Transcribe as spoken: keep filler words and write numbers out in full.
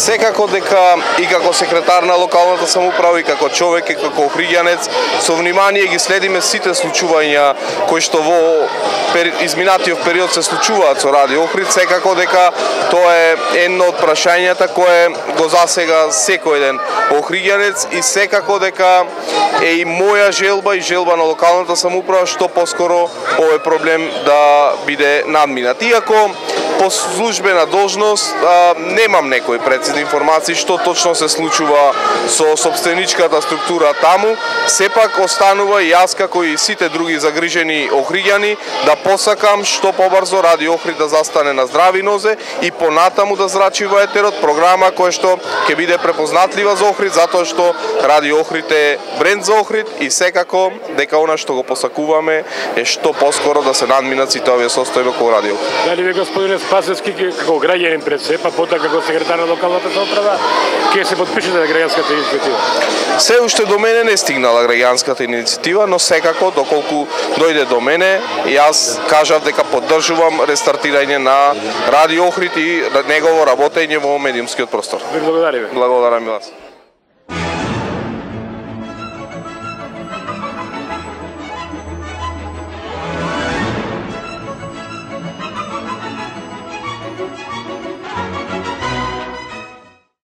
Секако дека и како секретар на локалната самоуправа и како човек и како охриѓанец со внимание ги следиме сите случувања кои што во изминатиот период се случуваат со Радио Охрид. Секако дека тоа е едно од прашањата кое го засега секој ден охриѓанец и секако дека е и моја желба и желба на локалната самоуправа што поскоро овој проблем да биде надминат. Иако по службена должност а, немам некои прецизни информации што точно се случува со собственичката структура таму, сепак останува и јас како и сите други загрижени охриѓани да посакам што побрзо Радио Охрид да застане на здрави нозе и понатаму да зрачи во етерот програма која што ќе биде препознатлива за Охрид, затоа што Радио Охрид е бренд за Охрид и секако дека она што го посакуваме е што поскоро да се надминат сите овие состојби околу Радио. Дали ви, господине Спасевски, како граѓанин пред се, па потоа како секретар на локалната самоуправа, ќе се подпишете на граѓанската иницијатива? Се уште до мене не стигнала граѓанската иницијатива, но секако доколку дојде до мене, јас кажав дека поддржувам рестартирање на Радио Охрид и негово работење во медиумскиот простор. Ви благодариме. Благодарам и вас.